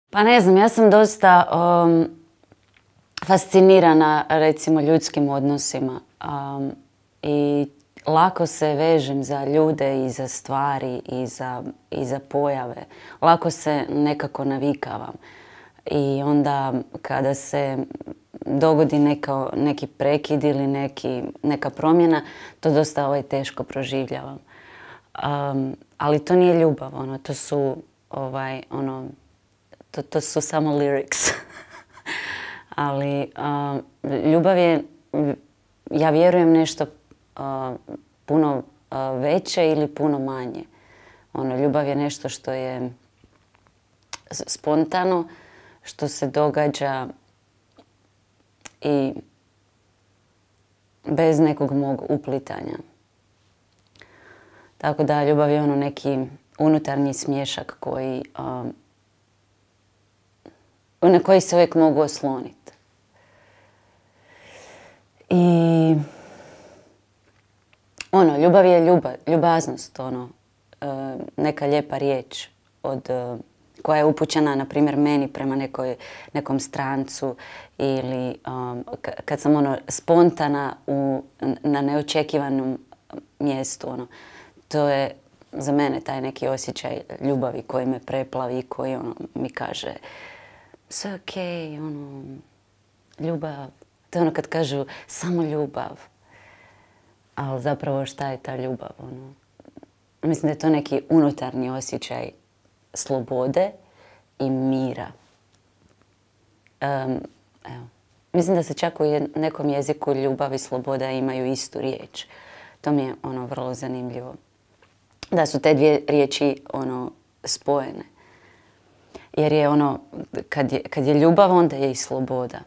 Pa ne znam, ja sam dosta fascinirana recimo ljudskim odnosima i lako se vežem za ljude i za stvari i za pojave. Lako se nekako navikavam. I onda kada se dogodi neki prekid ili neka promjena, to dosta teško proživljavam. Ali to nije ljubav, to su samo lyrics. Ali ljubav je, ja vjerujem, nešto puno veće ili puno manje. Ljubav je nešto što je spontano, što se događa i bez nekog mog uplitanja. Tako da ljubav je neki unutarnji smiješak na koji se uvijek mogu osloniti. I ljubav je ljubaznost, neka lijepa riječ koja je upućena, na primjer, meni prema nekom strancu ili kad sam spontana na neočekivanom mjestu. To je za mene taj neki osjećaj ljubavi koji me preplavi i koji mi kaže sve okej, ljubav. To je kad kažu samo ljubav. Ali zapravo šta je ta ljubav? Mislim da je to neki unutarnji osjećaj slobode i mira. Mislim da se čak u nekom jeziku ljubav i sloboda imaju istu riječ. To mi je vrlo zanimljivo. Da su te dvije riječi spojene. Jer je kad je ljubav, onda je i sloboda.